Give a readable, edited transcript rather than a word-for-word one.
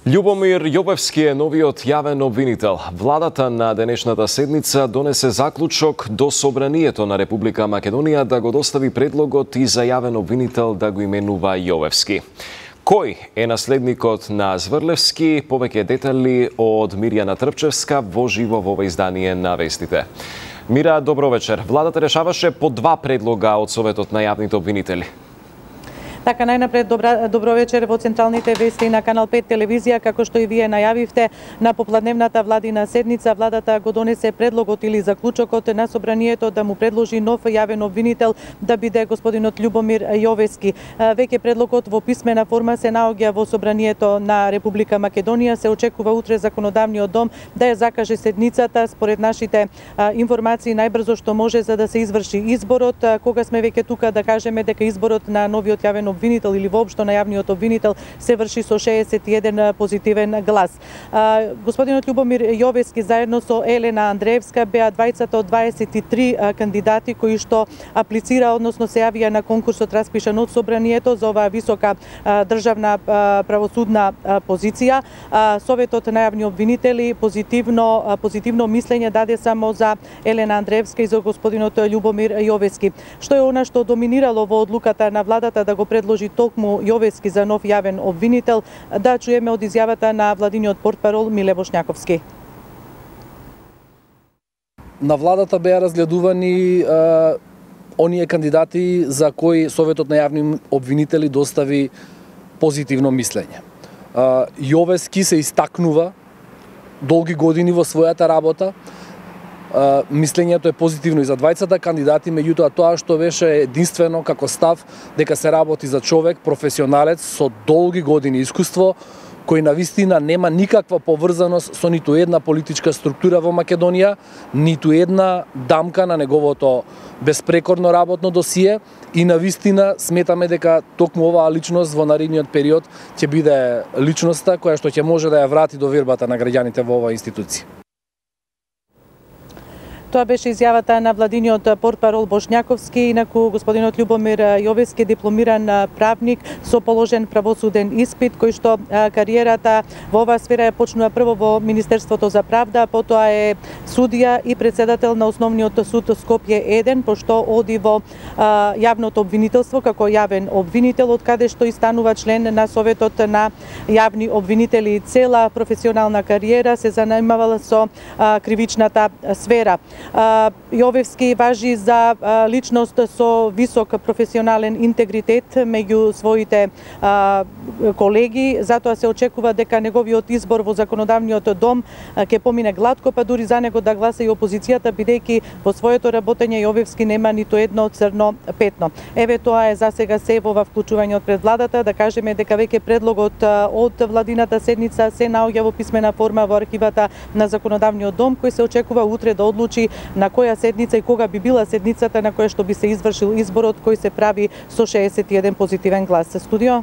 Љубомир Јовевски е новиот јавен обвинител. Владата на денешната седница донесе заклучок до Собранието на Република Македонија да го достави предлогот и за јавен обвинител да го именува Јовевски. Кој е наследникот на Зврлевски? Повеќе детали од Мирјана Трпчевска во живо во ова издание на Вестите. Мира, добро вечер. Владата решаваше по два предлога од Советот на јавните обвинители. Така, најнапред добро вечер во централните вести на Канал 5 телевизија. Како што и вие најавивте, на попладневната владина седница владата го донесе предлогот или заклучокот на Собранието да му предложи нов јавен обвинител да биде господинот Љубомир Јовевски. Веќе предлогот во писмена форма се наоѓа во Собранието на Република Македонија. Се очекува утре законодавниот дом да ја закаже седницата. Според нашите информации најбрзо што може за да се изврши изборот. Кога сме веќе тука да кажеме дека изборот на новиот јавен обвинител или воопшто на јавниот обвинител се врши со 61 позитивен глас. Господинот Љубомир Јовевски заедно со Елена Андреевска беа двајцата од 23 кандидати кои што аплицира, односно се јавија на конкурсот распишан од Собранието за оваа висока државна правосудна позиција. Советот на јавни обвинители позитивно мислење даде само за Елена Андреевска и за господинот Љубомир Јовевски. Што е она што доминирало во одлуката на владата да го предложи токму Јовевски за нов јавен обвинител, да чуеме од изјавата на владиниот портпарол Миле Бошњаковски. На владата беа разгледувани оние кандидати за кои Советот на јавни обвинители достави позитивно мислење. Јовевски се истакнува долги години во својата работа. Мислењето е позитивно и за двајцата кандидати, меѓутоа тоа што беше единствено како став дека се работи за човек, професионалец со долги години искуство, кој навистина нема никаква поврзаност со ниту една политичка структура во Македонија, ниту една дамка на неговото безпрекорно работно досие и навистина сметаме дека токму оваа личност во наредниот период ќе биде личноста која што ќе може да ја врати довербата на граѓаните во оваа институција. Тоа беше изјавата на владиниот портпарол Бошњаковски. Инаку господинот Љубомир Јовевски е дипломиран правник со положен правосуден испит, кој што кариерата во оваа сфера ја почнува прво во Министерството за правда, потоа е судија и председател на Основниот суд Скопје 1, пошто оди во јавното обвинителство како јавен обвинител, од каде што и станува член на Советот на јавни обвинители. Цела професионална кариера се занимавала со кривичната сфера. Јовевски важи за личност со висок професионален интегритет меѓу своите колеги, затоа се очекува дека неговиот избор во законодавниот дом ќе помине глатко, па дури за него да гласа и опозицијата, бидејќи во своето работење Јовевски нема ниту едно црно петно. Еве тоа е за сега се во вклучување од пред владата. Да кажеме дека веќе предлогот од владината седница се наоѓа во писмена форма во архивата на законодавниот дом, кој се очекува утре да одлучи на која седница и кога би била седницата на која што би се извршил изборот, кој се прави со 61 позитивен глас. Студио.